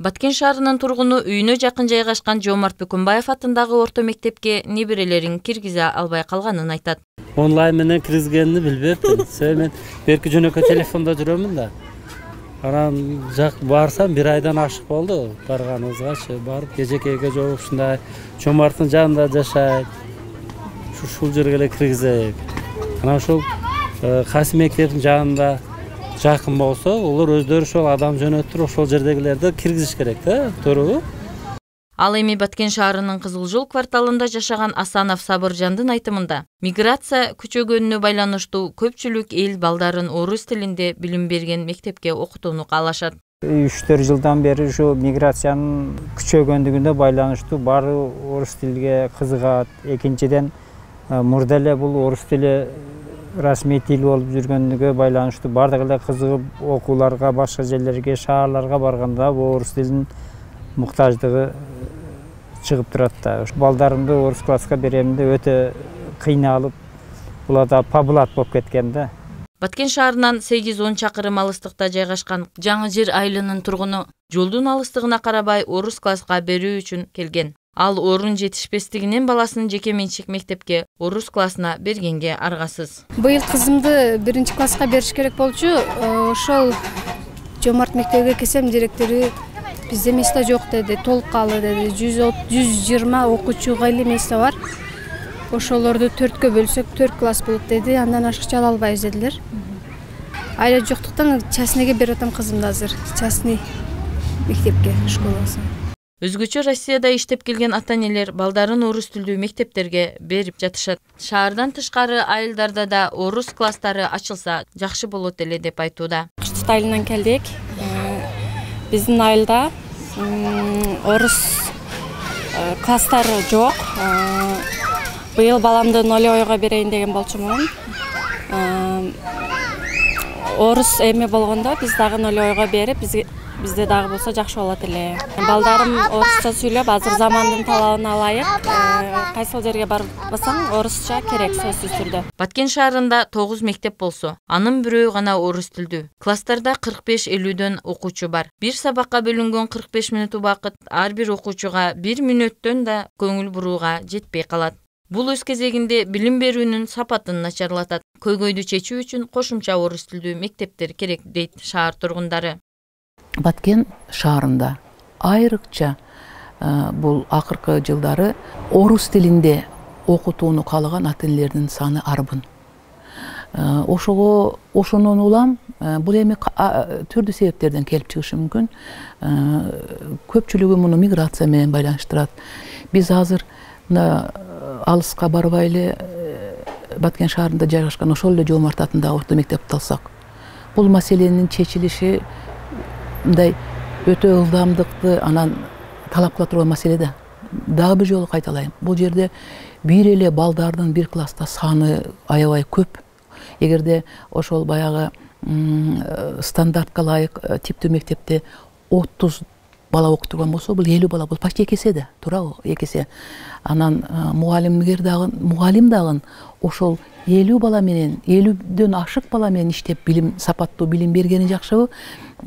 Баткен шаарынын тургуну үйүнө жакын жайгашкан Жомарт Бүкүнбаев атындагы орто мектепке неберелерин киргизе албай калганын айтат. Онлайн менен киргизгенин билбептин. Мен берки жөнөкөй телефондо жүрөмүн да. Анан жак барсам 1 айдан ашык болду. Барганыбызгачы барып кежекейге жооп ушундай Жомарттын жанында жашайт. Ушул жерге эле киргизейик. Анан ушул кайсы мектептин жанында жакын болсо, олар өздөрү ошол адам жөнөттүрүп ошол жердегилерди киргизиш керек да, туурабы? Ал эми Баткен шаарынын Кызыл Жол кварталында жашаган Асанов Сабыржандын айтымында, миграция күчөгөнүнө байланыштуу көпчүлүк эл балдарын орус тилинде билим берген мектепке окутууну каалашат. 3-4 жылдан бери ушу миграциянын күчөгөндүгүнө байланыштуу баары орус тилге кызыгат. Экинчиден, мурда эле бул орус тили расмий тил болуп жүргөнгө байланыштуу бардык эле кызыгып окууларга, башка жерлерге, шаарларга барганда бул орус тилинин муктаждыгы чыгып турат да. Балдарымды орус класска берем деп өтө кыйналып, булар да пабулат болуп кеткен да. Баткен шаарынан 8-10 чакырым алыстыкта жайгашкан Жаңы Жер айылынын тургуну жолдун алыстыгына карабай орус класска берүү үчүн келген. Ал орун жетишпестигинен баласын жеке менчик мектепке орус классына бергенге аргасыз. Быйыл кызымды 1-класска бериш керек болчу. Ошол Жомарт мектебине келсем, директору бизде место жок деди, толуккалы деди. 120 окуучуга эле место бар. Ошолорду 4кө бөлсөк 4 класс болот деди. Андан ашыкча ала албайбыз дедилер. Айла жоктуктан частныйга берип атам кызымды азыр. Частный мектепке, школасы. Өзгөчө Россияда иштеп келген ата-энелер балдарын орус тилдүү мектептерге берип жатышат. Шаардан тышкары айылдарда да орус класстары ачылса жакшы болот эле деп айтууда. Кыштык айылынан келдик. Биздин айылда орус класстары жок. Быйыл баламды 0 берейин деген болчумун. Орус эме болгондо биз дагы 0 берип, бизде дагы болсо жакшы болот эле. Балдарым орусча сүйлөп, азыр замандын талабына ылайык кайсыл жерге барып басаң орусча керек сөзсүз түрдө. Баткен шаарында 9 мектеп болсо, анын бирөө гана орус тилдүү. Класстарда 45-50дөн окуучу бар. Бир сабакка бөлүнгөн 45 мүнөт убакыт ар бир окуучуга 1 мүнөттөн да көңүл бурууга жетпей калат. Бул өз кезегинде билим берүүнүн сапатын начарлатат. Көйгөйдү чечүү үчүн кошумча орус тилдүү мектептер керек дейт шаар тургундары. Баткен шаарында айрыкча бул акыркы жылдары орус тилинде окутууну каалаган ата-энелердин саны арбын. Ошонун улам бул эми түрдүү себептерден келип чыгышы мүмкүн. Көпчүлүгү муну миграция менен байланыштырат. Биз азыр мына алыска барбай эле Баткен шаарында жайгашкан ошол эле Жомарт атындагы орто мектепти алсак, бул маселенин чечилиши мындай өтө ылдамдыкты анан талап кыла турган маселе да. Дагы бир жолу кайталайм. Бул жерде бир эле балдардын бир класста саны аябай көп. Эгерде ошол баягы стандартка ылайык типтүү мектепте 30 бала окутурган болсо, бул 50 бала, бул почти 2 эсе да, туурабы? 2 эсе. Анан мугалим дагы ошол 50 бала менен, 50дөн ашык бала менен иштеп сапаттуу билим бергени жакшыбы?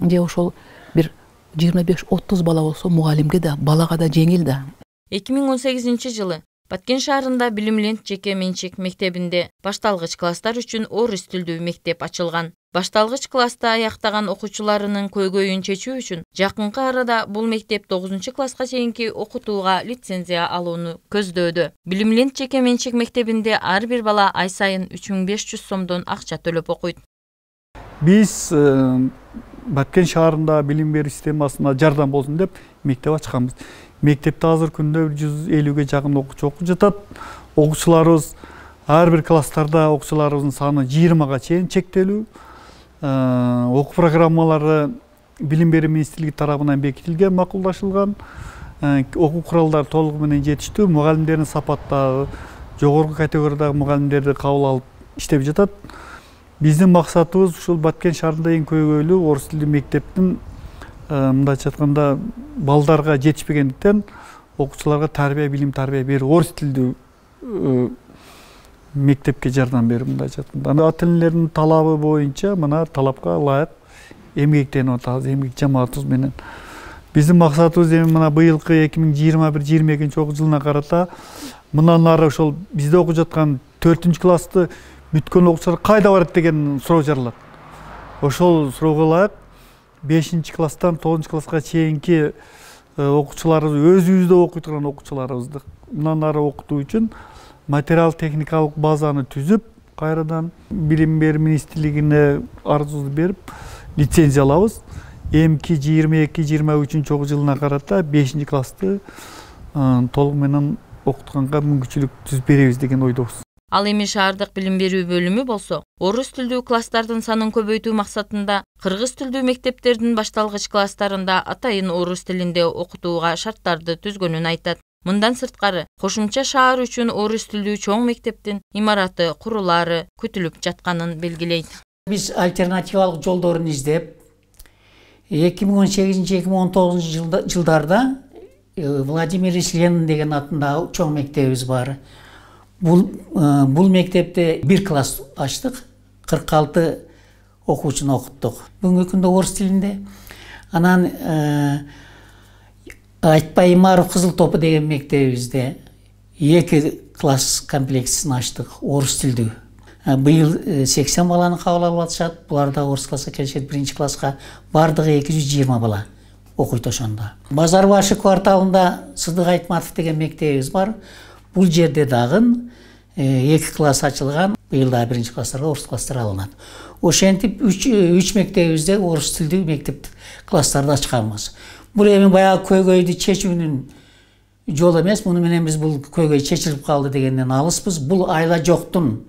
Же ошол бир 25-30 бала болсо, мугалимге да, балага да жеңил да. 2018-жылы Баткен шаарында Билимлент жеке менчик мектебинде башталгыч класстар үчүн орус тилдүү мектеп ачылган. Башталгыч класста аяктаган окуучуларынын көйгөйүн чечүү үчүн жакынкы арада бул мектеп 9 класска чейинки окутууга лицензия алууну көздөөдө. Билимлент жеке менчик мектебинде ар бир бала ай сайын 3500 сомдон акча төлөп окуйт. Биз Баткен шаарында билим берүү системасына жардам болсун деп мектеп ачканбыз. Мектепте азыр күндө 150ге жакын окуучу окуп жатат. Окуучуларыбыз ар бир класстарда окуучуларыбыздын саны 20га чейин чектелүү. Окуу программалары билим берүү министрлиги тарабынан бекитилген, макулдашылган. Окуу куралдары толугу менен жетиштүү. Мугалимдердин сапаттагы жогорку категориядагы мугалимдерди кабыл алып иштеп жатат. Биздин максатыбыз ушул Баткен шаарында эң көйгөйлүү орус тилдүү мектептин мындайча айтканда балдарга жетишпегендиктен окуучуларга билим тарбия берүү, орус тилдүү мектепке жардам берүү мындайча айтканда. Ата-энелердин талабы боюнча мына талапка ылайык эмгектенип атабыз, эмгек жамаатыбыз менен Биздин максатыбыз эми мына быйылкы 2021-22 окуу жылына карата мындан ары ошол бизде окуп жаткан 4-классты бүткөн окуучулар кайда барат деген суроо жаралат. Ошол суроого ылайык 5-класстан 9-класска чейинки окуучуларыбыз өзүбүздө окуй турган окуучуларыбызды мындан ары окутуу үчүн материал техникалык базаны түзүп, кайрадан билим берүү министрлигине арызыбызды берип, лицензия алабыз. Эмки 22-23 окуу жылына карата 5-классты толук менен окутканга мүмкүнчүлүк түзүп беребиз деген ойдобуз. Ал эми шаардык билим берүү бөлүмү болсо, орус тилдүү класстардын санын көбөйтүү максатында кыргыз тилдүү мектептердин башталгыч класстарында атайын орус тилинде окутууга шарттарды түзгөнүн айтат. Мындан сырткары, кошумча шаар үчүн орус тилдүү чоң мектептин имараты курулаары күтүлүп жатканын белгилейт. Биз альтернативалык жолдорун издеп, 2018-2019 жылдарда Владимир Ильич Ленин деген атындагы чоң мектебибиз бар. Бул мектепте 1 класс ачтык, 46 окуучуну окуттук. Бүгүнкү күндө орус тилинде. Анан Айтпай Имаров Кызыл топу деген мектебибизде 2 класс комплексин ачтык, орус тилдүү. Быйыл 80 баланы кабыл алып атышат. Булар да орус класска келишет, 1-класска бардыгы 220 бала окуйт ошондо. Базар башы кварталында Сыдык Айтматов деген мектебибиз бар. Бул жерде дагы 2 класс ачылган. Быйыл да 1-класстарга орус класстар алынат. Ошентип 3 мектебибизде орус тилдүү мектеп класстарды ачканбыз. Бул эми баягы көйгөйдү чечүүнүн жолу эмес. Муну менен биз бул көйгөй чечилип калды дегенден алыспыз. Бул айла жоктун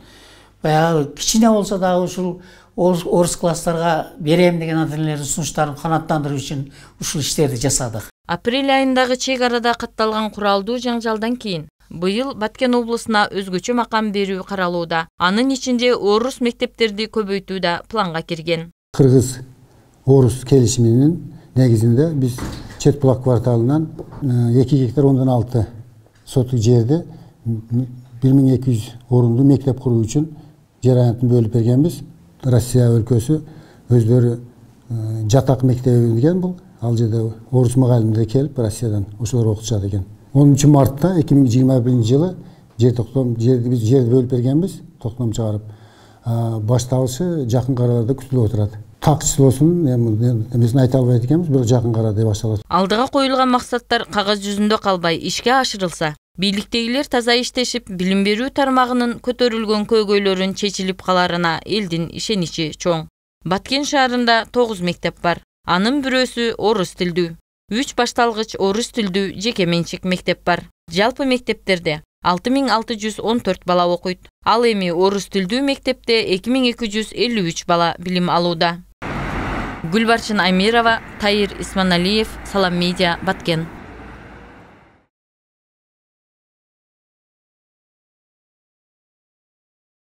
баягы кичине болсо дагы ушул орус класстарга берем деген ата-энелердин сунуштарын канааттандыруу үчүн ушул иштерди жасадык. Апрель айындагы чек арада катталган куралдуу жаңжалдан кийин быйыл Баткен облусуна өзгөчө макам берүү каралууда. Анын ичинде орус мектептерди көбөйтүү да планга кирген. Кыргыз орус келишиминин негизинде биз Чет булак кварталынан 2 гектар 10,6 сотук жерде 1200 орундуу мектеп куруу үчүн жер аянтын бөлүп бергенбиз. Россия өлкөсү өздөрү жатак мектеби деген бул. Ал жерде орус мугалимдер келип Россиядан ошолор окутушат экен. 10 мартта 2021 жылы жерди бөлүп бергенбиз, токтом чыгарып. Башталышы жакын араларда күтүлүп отурат. Так числосун эмесин айта албайт экенбиз, бирок жакын арада башталат. Алдыга коюлган максаттар кагаз жүзүндө калбай ишке ашырылса, бийликтегилер таза иштешип, билим берүү тармагынын көтөрүлгөн көйгөйлөрүн чечилип каларына элдин ишеничи чоң. Баткен шаарында 9 мектеп бар. Анын бирөөсү орус тилдүү. 3 башталгыч орус тилдүү жеке менчик мектеп бар. Жалпы мектептерде 6614 бала окуйт. Ал эми орус тилдүү мектепте 2253 бала билим алууда. Гүлбарчын Аймирова, Тайыр Исманалиев, Салам Медиа, Баткен.